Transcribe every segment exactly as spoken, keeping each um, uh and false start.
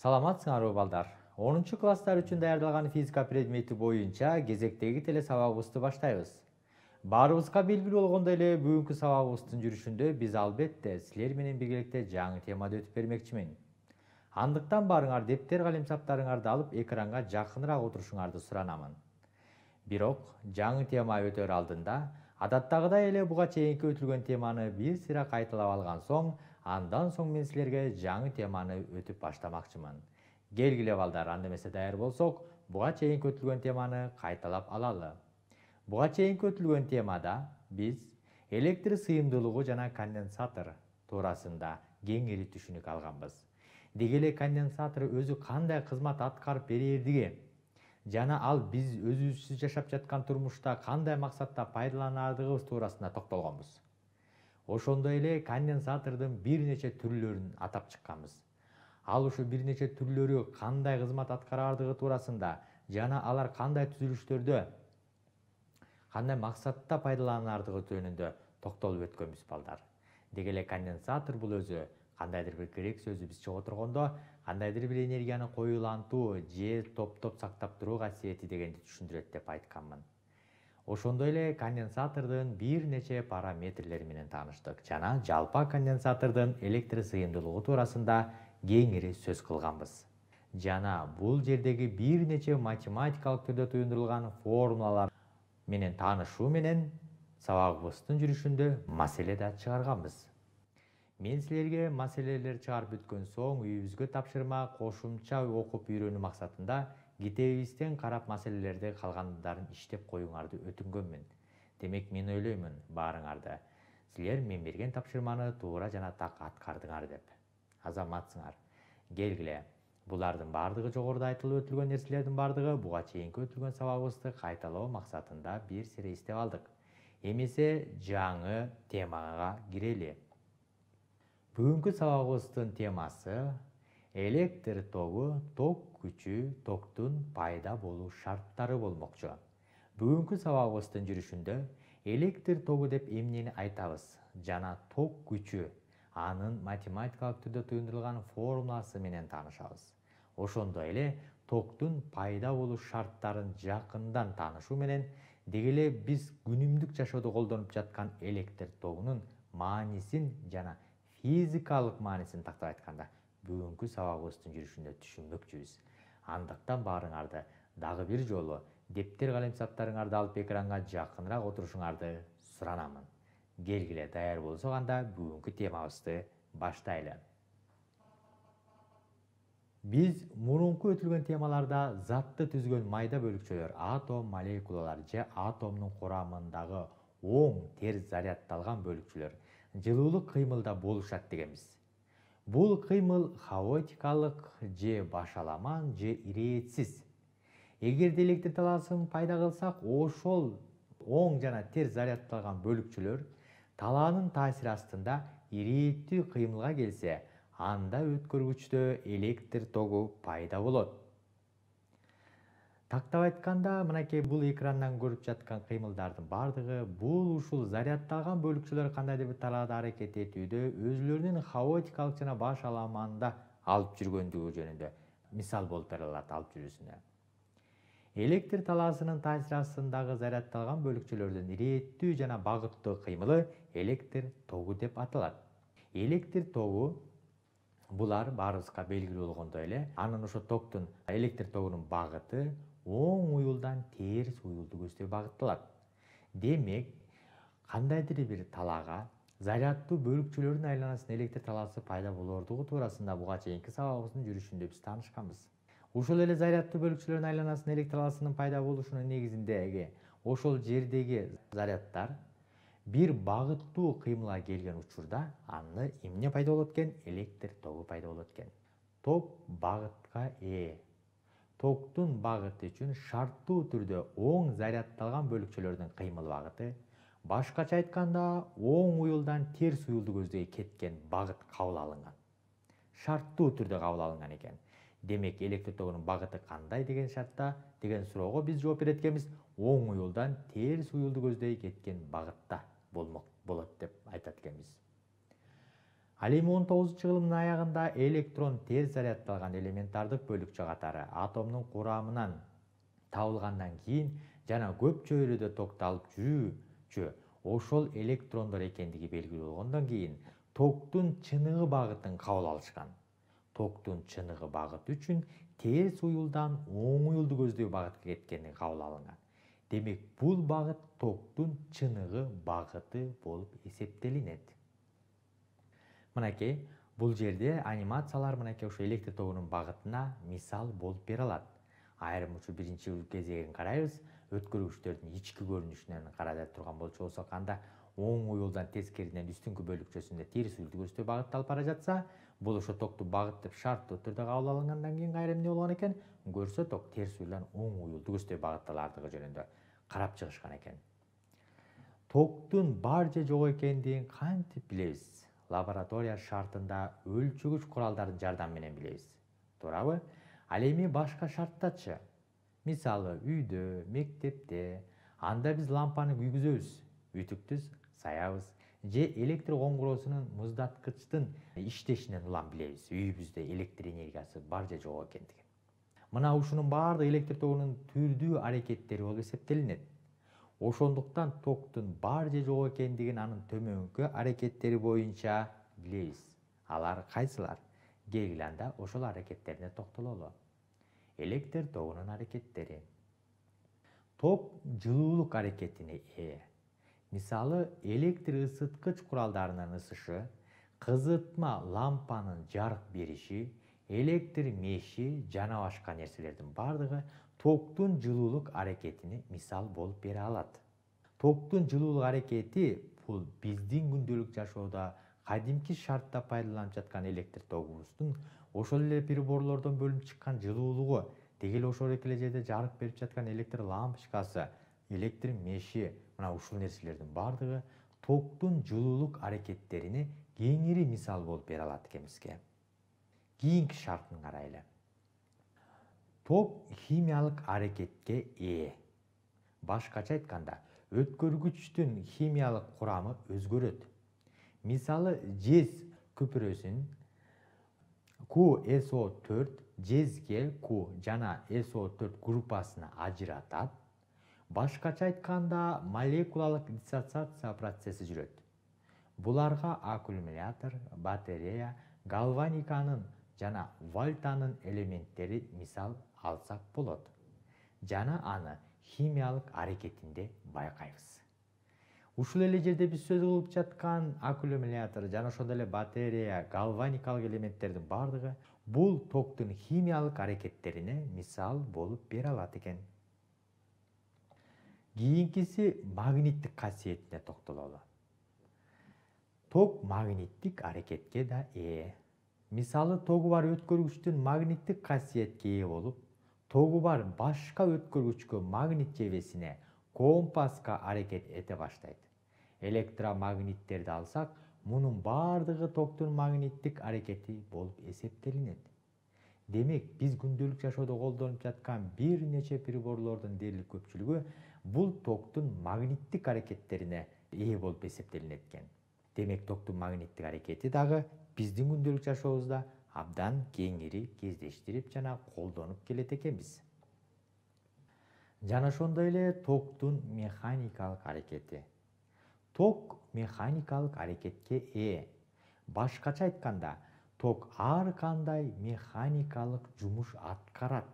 Саламатсыңарбы балдар? онунчу класстар үчүн даярдалган физика предмети боюнча кезектеги теле сабагыбызды баштайбыз. Баарыбызга белгилүү болгондой эле бүгүнкү сабагыбыздын жүрүшүндө биз албетте силер менен биргеликте жаңы темада өтүп бермекчимин. Андыктан барыңар дептер калемсаптарыңарды алып экранга жакыныраак отурушуңарды суранамын. Бирок жаңы тема өтөр алдында адаттагыдай эле буга чейинки өтүлгөн теманы бир сыйра кайталап алган соң, андан соң мен силерге жаңы теманы өтүп баштамакчымын. Келгиле балдар, анда эмесе даяр болсок, буга чейинки өтүлгөн теманы кайталап алалы. Буга чейинки өтүлгөн темада биз электр сыйымдуулугу жана конденсатор туурасында кеңири түшүнүк алганбыз. Деги эле конденсатор өзү кандай кызмат аткарып берэрдиги жана ал биз өзүбүз жашап жаткан турмушта кандай максатта пайдаланардыгыбыз туурасында токтолгонбуз. Ошондой эле конденсатордун бир нече түрлөрүн атап чыкканбыз. Ал ошо бир нече түрлөрү кандай кызмат аткарардыгы туурасында жана алар кандай түзүлүштөрдө, кандай максатта пайдаланардыгы жөнүндө токтолуп өткөнбүз балдар. Деги эле конденсатор бул өзү кандайдыр бир грек сөзү бизче отургондо, кандайдыр бир энергияны коюлантуу же топтоп сактап туруу касиети дегенди түшүндүрөт деп айтканмын. Ошондой эле конденсатордун бир нече параметрлери менен тааныштык жана жалпы конденсатордун электр сыйымдуулугу туурасында кеңири сөз кылганбыз. Жана бул жердеги бир нече математикалык түрдө туюндурулган формулалар менен таанышуу менен сабагыбыздын жүрүшүндө маселе да чыгарганбыз. Мен силерге маселелер чыгарып бүткөн соң үйүбүзгө тапшырма кошумча окуп үйрөнүү максатында китебибизден карап маселелерди калгандарын иштеп коюңарды өтүнгөнмүн. Демек мен ойлоймун баарыңарды силер мен берген тапшырманы туура жана так аткардыңар деп. Азаматсыңар. Келгиле. Булардын баардыгы жогоруда айтылып өтүлгөн нерселердин баардыгы буга чейинки өтүлгөн сабагыбызды кайталоо максатында бир сире эстеп алдык. Эмесе жаңы темага кирели. Бүгүнкү сабагыбыздын темасы электр тогу, ток күчү, токтун пайда болуу шарттары болмокчу. Бүгүнкү сабагыбыздын жүрүшүндө электр тогу деп эмнени айтабыз жана ток күчү анын математикалык түрдө туюндурулган формуласы менен таанышабыз. Ошондой эле токтун пайда болуу шарттарын жакындан таанышуу менен деги эле биз күнүмдүк жашоодо колдонуп жаткан электр тогунун маанисин жана физикалык маанисин тактап айтканда бүгүнкү сабагыбыздын жүрүшүндө түшүнмөкчүбүз. Андыктан баарыңарды дагы бир жолу дептер калемсаптарыңарды алып экранга жакыныраак отурушуңарды суранамын. Келгиле, даяр болсок анда бүгүнкү темабызды баштайлы. Биз мурунку өтүлгөн темаларда затты түзгөн майда бөлүкчөлөр, атом, молекулалар же атомдун курамындагы оң терс зарядталган бөлүкчөлөр жылуулук кыймылда болушат дегенбиз. Бул кыймыл хаотикалык же башаламан же иретсиз. Эгерде электр талаасын пайда кылсак, ошол оң жана терс зарядталган бөлүкчөлөр талаанын таасири астында ирээттүү кыймылга келсе, анда өткөргүчтө электр тогу пайда болот. Тактап айтканда, мынакей бул экрандан көрүп жаткан кыймылдардын баардыгы бул ушул зарядталган бөлүкчөлөр кандайдыр бир талаада аракет этүүдө өзүлөрүнүн хаотикалык жана башаламанда алып жүргөндүгү жөнүндө мисал болуп бере алат алып жүрүүсүнө. Электр талаасынын таасири астындагы зарядталган бөлүкчөлөрдүн ирээттүү жана багыттуу кыймылы электр тогу деп аталат. Электр тогу булар баарыбызга белгилүү болгондой эле, анын ошо токтун электр тогунун багыты оң уюлдан терс уюлду көздөй багытталат. Демек, кандайдыр бир талаага заряддуу бөлүкчөлөрдүн айланасында электр талаасы пайда болордугу туурасында буга чейинки сабагыбыздын жүрүшүндө биз таанышканбыз. Ушул эле заряддуу бөлүкчөлөрдүн айланасында электр талаасынын пайда болушунун негизиндеги ошол жердеги заряддар бир багыттуу кыймылга келген учурда аны эмне пайда болот экен? Электр тогу пайда болот экен. Ток багытка ээ. Токтун багыты үчүн шарттуу түрдө оң зарядталган бөлүкчөлөрдүн кыймыл багыты, башкача айтканда, оң уюлдан терс уюлду көздөй кеткен багыт кабыл алынган. Шарттуу түрдө кабыл алынган экен. Демек, электр тогунун багыты кандай деген шартта деген суроого биз жооп берет экенбиз, оң уюлдан терс уюлду көздөй кеткен багытта болмок болот деп айтат экенбиз. Ал эми он тогузунчу кылымдын аягында электрон терс заряддалган элементардык бөлүкчө катары атомдун курамынан табылгандан кийин жана көп чөйрөдө токтолуп жүрүүчү ошол электрондор экендиги белгилүү болгондон кийин токтун чыныгы багытын кабыл алышкан. Токтун чыныгы багыты үчүн терс уюлдан оң уюлду көздөй багытка кеткени кабыл алынган. Демек, бул багыт токтун чыныгы багыты болуп эсептелинет. Мынакей, бул жерде анимациялар мынакей ошо электр тогунун багытына мисал болуп бере алат. Айрым ушу биринчи кезегин карайбыз. Өткөргүчтөрдүн ички көрүнүшүнөн карай турган болчу болсок, анда оң уюлдан тескериден үстүнкү бөлүкчөсүндө терс уюлду көздөй багытта алып бара жатса, бул ошо токту багыт деп шарттуу түрдө кабыл алынгандан кийин кайра эмне болгон экен? Көрсө ток терс уюлдан оң уюлду көздөй багытталардыгы жөнүндө карап чыгышкан экен. Токтун бар же жок экендигин кантип билебиз? Лаборатория шартында өлчөгүч куралдардын жардамы менен билебиз. Туурабы? Ал эми башка шарттачы? Мисалы, үйдө, мектепте, анда биз лампаны күйгүзөбүз, үтүктү саябыз, же электр коңгуроосунун муздаткычтын иштешинен улам билебиз, үйүбүздө электр энергиясы бар же жок экендигин. Мына ушунун баардыгы электр тогунун түрдүү аракеттери болуп эсептелинет. Ошондуктан токтун бар же жок экендигин анын төмөнкү аракеттери боюнча билебиз. Алар кайсылар? Келгиле анда ошол аракеттерине токтололу. Электр тогунун аракеттери. Ток жылуулук аракетине ээ. Мисалы, электр ысыткыч куралдарынын ысышы, кызытма лампанын жарык бериши, электр меши жана башка нерселердин бардыгы токтун жылуулук аракетине мисал болуп бере алат. Токтун жылуулук аракети бул биздин күндөлүк жашоодо кадимки шартта пайдаланып жаткан электр тогубуздун ошол эле приборлордон бөлүнүп чыккан жылуулугу, деги эле ошол эле жерде жарык берип жаткан электр лампочкасы, электр меши, мына ушул нерселердин бардыгы токтун жылуулук аракеттерине кеңири мисал болуп бере алат экен бизге. Кийинки шартын карайлы. Ток химиялык аракетке ээ. Башкача айтканда, өткөргүчтүн химиялык курамы өзгөрөт. Мисалы, жез күпүрөсүн Q S O төрт жезге Q жана S O төрт группасына ажыратат. Башкача айтканда, молекулалык диссоциация процесси жүрөт. Буларга аккумулятор, батарея, галваниканын жана вольтанын элементтери мисал алсак болот. Жана аны химиялык аракетинде байкайбыз. Ушул эле жерде биз сөз кылып жаткан аккумулятор жана ошондой эле батарея, галваникалык элементтердин бардыгы бул токтун химиялык аракеттерине мисал болуп бере алат экен. Кийинкиси магниттик касиетине токтололу. Ток магниттик аракетке да ээ. Мисалы, тогу бар өткөргүчтүн магниттик касиетке ээ болуп, тогу бар башка өткөргүчкө магнит жебесине, компаска аракет эте баштайт. Электромагниттерди алсак, мунун бардыгы токтун магниттик аракети болуп эсептелинет. Демек, биз күндөлүк жашоодо колдонуп жаткан бир нече приборлордун дээрлик көпчүлүгү бул токтун магниттик аракеттерине ээ болуп эсептелинет экен. Демек, токтун магниттик аракети дагы биздин күндөлүк жашообузда абдан кеңири кездештирип жана колдонуп келет экенбиз. Жана ошондой эле токтун механикалык аракети. Ток механикалык аракетке ээ. Башкача айтканда, ток ар кандай механикалык жумуш аткарат.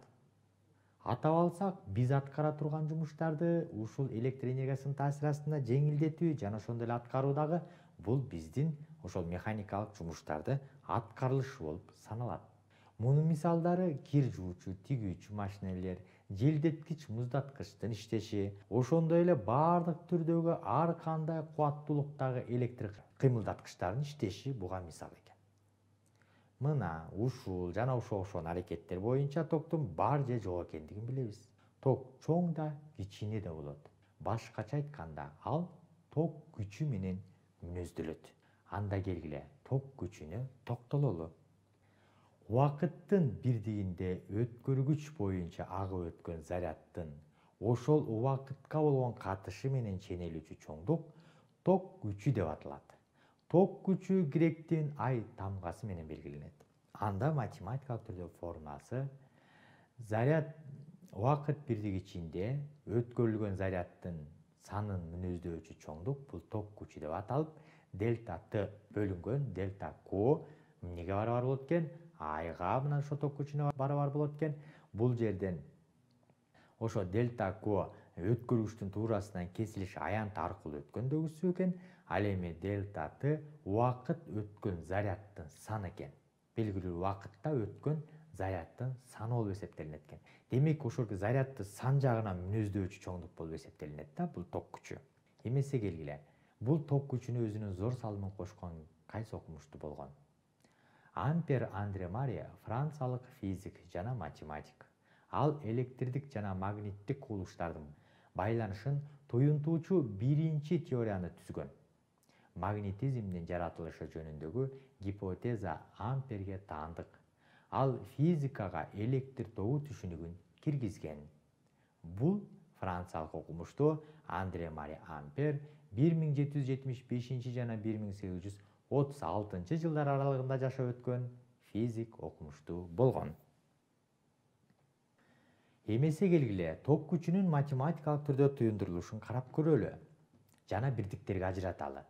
Атап алсак, биз аткара турган жумуштарды ушул электр энергиясынын таасири астында жеңилдетүү жана ошондой эле аткаруу дагы бул биздин ошол механикалык жумуштарды аткарылышы болуп саналат. Мунун мисалдары кир жуучу, тигүүчү машинелер, желдеткич муздаткычтын иштеши, ошондой эле бардык түрдөгү ар кандай кубаттуулуктагы электр кыймылдаткычтардын иштеши буга мисал экен. Мына ушул жана ошого окшогон аракеттер боюнча токтун бар же жок экендигин билебиз. Ток чоң да, кичине да болот. Башкача айтканда, ал ток күчү менен мүнөздөлөт. Анда келгиле ток күчүнө токтололу. Убакыттын бирдигинде өткөргүч боюнча агып өткөн заряддын ошол убакытка болгон катышы менен ченелүүчү чоңдук ток күчү деп аталат. Ток күчү гректин ай тамгасы менен белгиленет. Анда математикалык түрдө формуласы заряд убакыт бирдиги ичинде өткөрүлгөн заряддын санын мүнөздөочү чоңдук бул ток күчү деп аталып, дельта Т бөлүнгөн дельта Q эмнеге барабар болот экен? Айга мына ошо ток күчүнө барабар болот экен. Бул жерден ошо дельта Q өткөргүчтүн туурасынан кесилиш аянты аркылуу өткөндөгүсү экен. Ал эми дельта Т убакыт өткөн заряддын саны экен. Белгилүү убакытта өткөн заряддын саны болуп эсептелинет экен. Демек ошол зарядды сан жагынан мүнөздөочү чоңдук болуп эсептелинет да бул ток күчү. Эмесе келгиле. Бул ток күчүнө өзүнүн зор салымын кошкон кайсы окумуштуу болгон? Ампер Андре Мария франциялык физик жана математик. Ал электрдик жана магниттик кубулуштардын байланышын туюнтуучу биринчи теорияны түзгөн. Магнетизмдин жаратылышы жөнүндөгү гипотеза Амперге таандык. Ал физикага электр тогу түшүнүгүн киргизген. Бул франциялык окумуштуу Андре Мари Ампер бир миң жети жүз жетимиш бешинчи жана бир миң сегиз жүз отуз алтынчы жылдар аралыгында жашап өткөн физик окумуштуу болгон. Эмесе келгиле, ток күчүнүн математикалык түрдө туюндурулушун карап көрөлү жана бирдиктерге ажыраталы.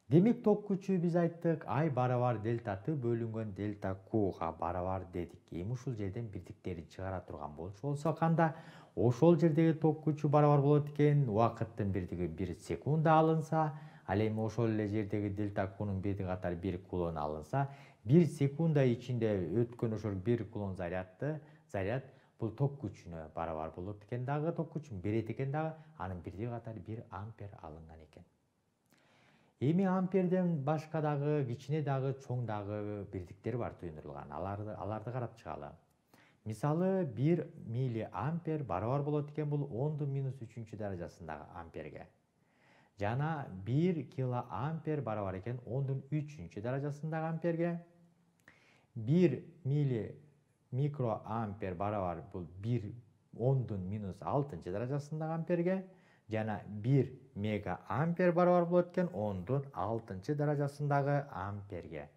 Демек ток күчү биз айттык, ай барабар дельта Т бөлүнгөн дельта Qга барабар дедик. Эми ушул жерден бирдиктерин чыгара турган болчу болсо канда, ошол жердеги ток күчү барабар болот экен. Убакыттын бирдиги бир секунда алынса, ал эми ошол эле жердеги дельта Qнун бирдиги катары бир кулон алынса, бир секунда ичинде өткөн ошол бир кулон зарядды, заряд бул ток күчүнө барабар болот экен дагы, ток күчүн берет экен дагы, анын бирдиги катары бир ампер алынган экен. Эми амперден башка дагы, кичине дагы, чоң дагы бирдиктер бар туюндурулган. Аларды аларды карап чыгалы. Мисалы, бир милли ампер барабар болот экен бул ондун минус үчүнчү даражасындагы амперге. Жана бир кило ампер барабар экен ондун үчүнчү даражасындагы амперге. бир милли микро ампер барабар бул бир ондун минус алтынчы даражасындагы амперге. Жана бир мега ампер барабар болот экен ондун алтынчы даражасындагы амперге.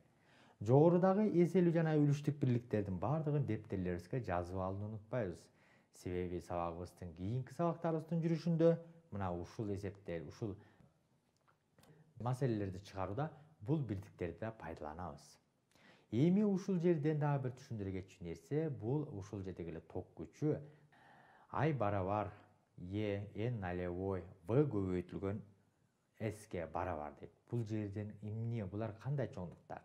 Жогорудагы эселүү жана үлүштүк бирликтердин бардыгын дептерлерибизге жазып алууну унутпайбыз. Себеби сабагыбыздын кийинки сабактарыбыздын жүрүшүндө мына ушул эсептер, ушул маселелерди чыгарууда бул бирдиктерди пайдаланабыз. Эми ушул жерден дагы бир түшүндүрө кетчү нерсе, бул ушул жердеги эле ток күчү ай барабар Е n налевой В көбөйтүлгөн Сге барабар дейт. Бул жерден эмне, булар кандай чоңдуктар?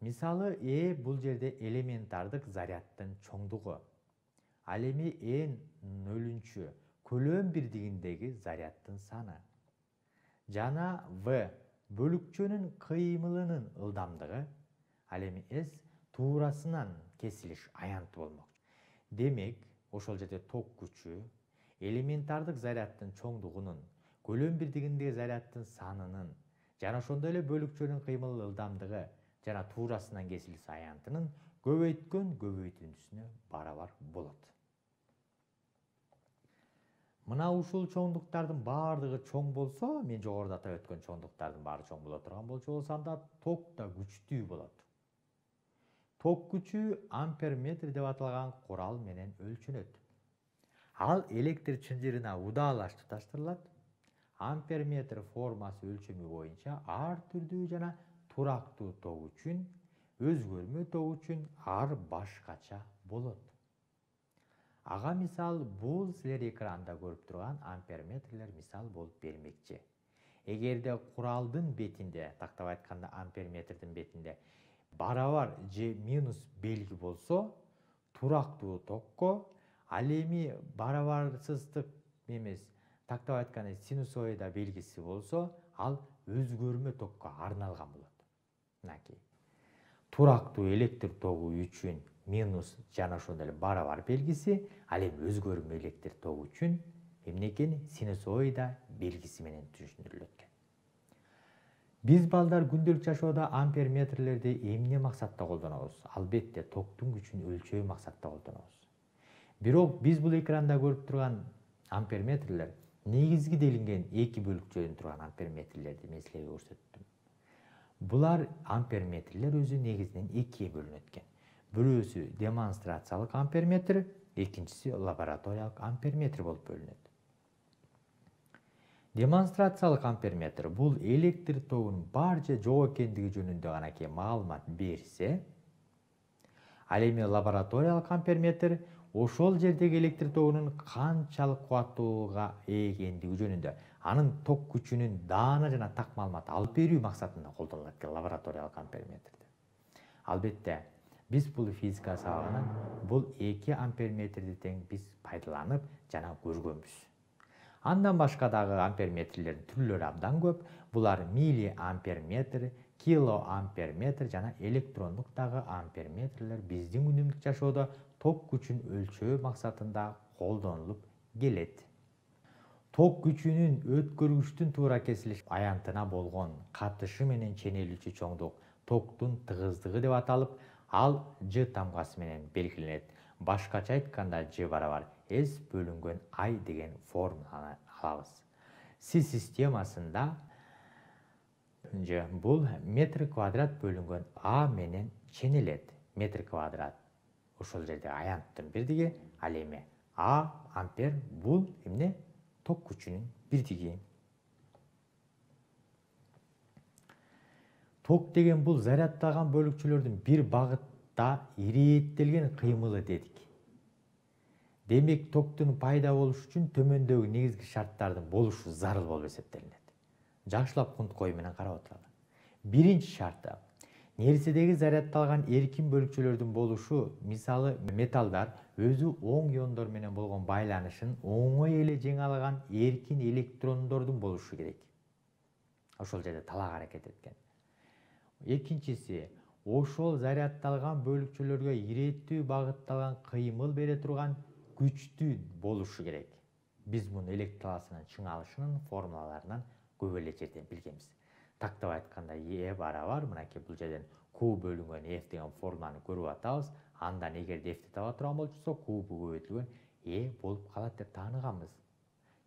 Мисалы, Э бул жерде элементардык заряддын чоңдугу. Ал эми n нөлүнчү көлөм бирдигиндеги заряддын саны. Жана В бөлүкчөнүн кыймылынын ылдамдыгы. Ал эми S туурасынан кесилиш аянты болмок. Демек, ошол жерде ток күчү элементардык заряддын чоңдугунун, көлөм бирдигиндеги заряддын санынын, жана ошондой эле бөлүкчөнүн кыймыл ылдамдыгы жана туурасынан кесилиш аянтынын көбөйткөн көбөйтүндүсүнө барабар болот. Мына ушул чоңдуктардын баардыгы чоң болсо, мен жогоруда атап өткөн чоңдуктардын баары чоң боло турган болчу болсо, анда ток да күчтүү болот. Ток күчү амперметр деп аталган курал менен өлчөнөт. Ал электр чынжырына удаалаш туташтырылат. Амперметр формасы өлчөмү боюнча ар түрдүү жана турактуу ток үчүн, өзгөрмө ток үчүн ар башкача болот. Ага мисал бул силер экранда көрүп турган амперметрлер мисал болуп бермекчи. Эгерде куралдын бетинде, тактап айтканда амперметрдин бетинде барабар же минус белги болсо, турактуу токко, ал эми барабарсыздык эмес, тактап айтканда синусоида белгиси болсо, ал өзгөрмө токко арналган болот. Мынакей. Турактуу электр тогу үчүн минус жана ошондой эле барабар белгиси, ал эми өзгөрмө электр тогу үчүн эмне экен? Синусоида белгиси менен түшүндүрүлөт экен. Биз балдар күндөлүк жашоодо амперметрлерди эмне максатта колдонобуз? Албетте токтун күчүн өлчөө максатта колдонобуз. Бирок биз бул экранда көрүп турган амперметрлер негизги делинген эки бөлүкчөдөн турган амперметрлерди мен силерге көрсөттүм. Булар амперметрлер өзү негизинен экиге бөлүнөт экен. Бирөөсү демонстрациялык амперметр, экинчиси лабораториялык амперметр болуп бөлүнөт. Демонстрациялык амперметр бул электр тогунун бар же жок экендиги жөнүндө гана ке маалымат берсе, ал эми лабораториялык амперметр ошол жердеги электр тогунун канчалык кубаттуулукка ээ экендиги жөнүндө, анын ток күчүнүн даана жана так маалымат алып берүү максатында колдонулат экен лабораториялык амперметрде. Албетте, биз бул физика сабагынан бул эки амперметрди тең биз пайдаланып жана көргөнбүз. Андан башка дагы амперметрлердин түрлөрү абдан көп. Булар миллиамперметр, килоамперметр жана электрондук дагы амперметрлер биздин күнүмдүк жашоодо ток күчүн өлчөө максатында колдонулуп келет. Ток күчүнүн өткөргүчтүн туура кесилиш аянтына болгон катышы менен ченелүүчү чоңдук токтун тыгыздыгы деп аталып, ал Ж тамгасы менен белгиленет. Башкача айтканда Ж барабар S бөлүнгөн I деген формуланы алабыз. Си системасында Ж бул метр квадрат бөлүнгөн А менен ченелет. Метр квадрат ошол жерде аянттын бирдиги, ал эми А ампер бул эмне? Ток күчүнүн бирдиги. Ток деген бул зарядталган бөлүкчөлөрдүн бир багытта ирээттелген кыймылы дедик. Демек, токтун пайда болушу үчүн төмөндөгү негизги шарттардын болушу зарыл болуп эсептелинет. Жакшылап кунткой менен карап отуралы. Биринчи шарты: нерседеги зарядталган эркин бөлүкчөлөрдүн болушу, мисалы металлдар өзү оң иондор менен болгон байланышын оңой эле жеңе алган эркин электрондордун болушу керек. Ошол жерде талаак аракет эткен. Экинчиси, ошол зарядталган бөлүкчөлөргө ирээттүү багытталган кыймыл бере турган күчтүү болушу керек. Биз муну электр талаасынын чыңалышынын формулаларынан көп эле жерден билгенбиз. Тактап айтканда E барабар, мынакей бул жерден Q бөлүнгөн F деген формуланы көрүп атабыз. Андан эгерде F'ти таба турган болчусок, Q көбөйтүлгөн E болуп калат деп тааныганбыз.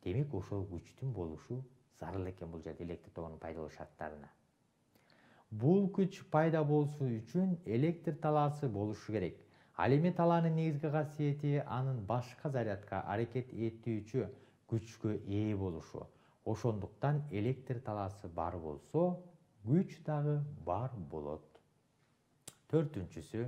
Демек, ошол күчтүн болушу зарыл экен бул жерде электр тогунун пайда болуу шарттарына. Бул күч пайда болушу үчүн электр талаасы болушу керек. Ал эми талаанын негизги касиети анын башка зарядка аракет этүүчү күчкө ээ болушу. Ошондуктан электр талаасы бар болсо, күч дагы бар болот. Төртүнчүсү,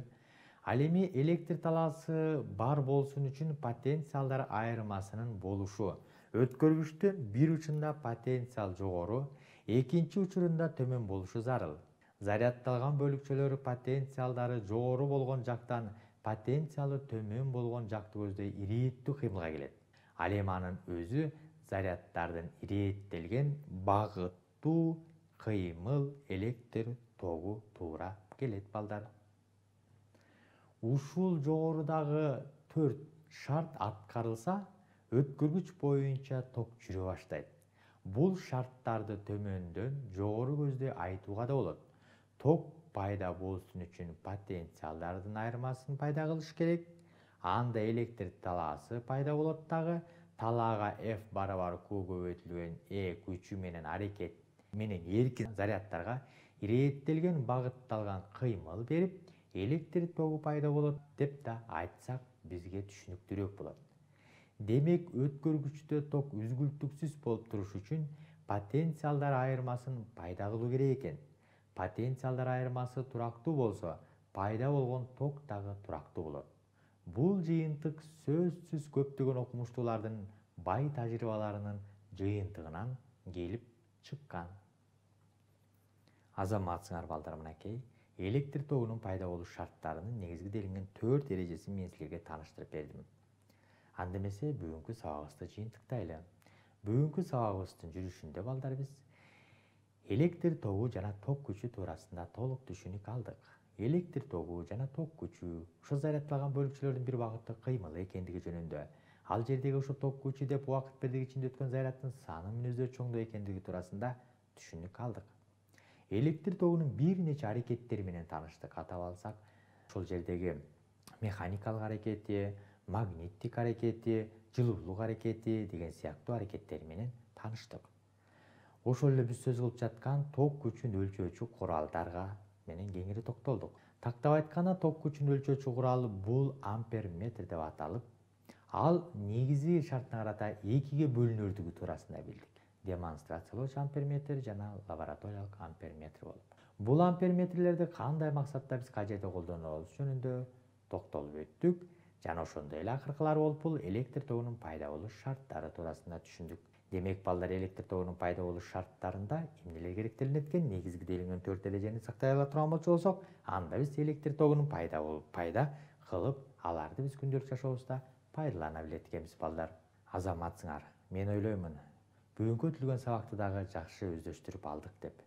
ал эми электр талаасы бар болсун үчүн потенциалдар айырмасынын болушу. Өткөргүчтүн бир учунда потенциал жогору, экинчи учурунда төмөн болушу зарыл. Зарядталган бөлүкчөлөр потенциалдары жогору болгон жактан потенциалы төмөн болгон жакты көздөй ирээттүү кыймылга келет. Ал эми анын өзү заряддардын ирээттелген багыттуу кыймыл электр тогу туура келет балдар. Ушул жогорудагы төрт шарт аткарылса, өткөргүч боюнча ток жүрө баштайт. Бул шарттарды төмөндөн жогору көздөй айтууга да болот. Ток пайда болсун үчүн потенциалдардын айырмасын пайда кылыш керек. Анда электр талаасы пайда болот дагы. Талаага F барабар Q көбөйтүлгөн E күчү менен аракет менен эркин зарядтарга ирээттелген багытталган кыймыл берип, электр тогу пайда болот деп да айтсак бизге түшүнүктүүрөөк болот. Демек, өткөргүчтө ток үзгүлтүксүз болуп туруш үчүн потенциалдар айырмасын пайда кылуу керек экен. Потенциалдар айырмасы турактуу болсо, пайда болгон ток дагы турактуу болот. Бул жыйынтык сөзсүз көптөгөн окумуштуулардын бай тажрыйбаларынын жыйынтыгынан келип чыккан. Азаматсыңар балдар, мынакей электр тогунун пайда болуш шарттарынын негизги делинген төрт эрежесин мен силерге тааныштырып бердим. Анда эмесе бүгүнкү сабагыбызды жыйынтыктайлы. Бүгүнкү сабагыбыздын жүрүшүндө балдар биз электр тогу жана ток күчү туурасында толук түшүнүк алдык. Электр тогу жана ток күчү ошо зарядталган бөлүкчөлөрдүн бир багытта кыймылы экендиги жөнүндө, ал жердеги ошо ток күчү деп убакыт бирдигичинде өткөн зарядтын саны мүнөздөр чоңдоо экендиги туурасында түшүнүк алдык. Электр тогунун бир нече аракеттери менен тааныштык. Атап алсак, ошол жердеги механикалык аракети, магниттик аракети, жылуулук аракети деген сыяктуу аракеттер менен тааныштык. Ошол эле биз сөз кылып жаткан ток күчүн өлчөөчү куралдарга менен кеңири токтолдук. Тактап айтканда ток күчүн өлчөөчү куралы бул амперметр деп аталып, ал негизги шартына карата экиге бөлүнөрдүгү туурасында билдик. Демонстрациялоочу амперметр жана лабораториялык амперметр болуп. Бул амперметрлерди кандай максатта биз кажетте колдонобуз жөнүндө токтолуп өттүк жана ошондой эле акыркылары болуп бул электр тогунун пайда болуш шарттары туурасында түшүндүк. Демек балдар, электр тогунун пайда болуш шарттарында эмнелер керектелинет экен? Негизги делинген төрт эрежени сактай ала турган болчу болсок, анда биз электр тогунун пайда болуп, пайда кылып, аларды биз күндөлүк жашообузда пайдалана билет экенбиз балдар. Азаматсыңар, мен ойлоймун, бүгүнкү өтүлгөн сабакты дагы жакшы өздөштүрүп алдык деп.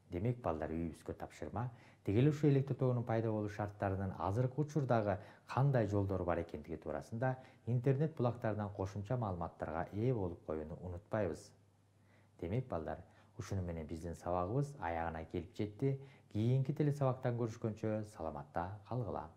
Демек балдар, үйүбүзгө тапшырма, деги эле ушул электр тогунун пайда болуш шарттарынын азыркы учурдагы кандай жолдору бар экендиги туурасында интернет булактарынан кошумча маалыматтарга ээ болуп коюуну унутпайбыз. Демек балдар, ушуну менен биздин сабагыбыз аягына келип жетти. Кийинки телесабактан көрүшкөнчө саламатта калгыла.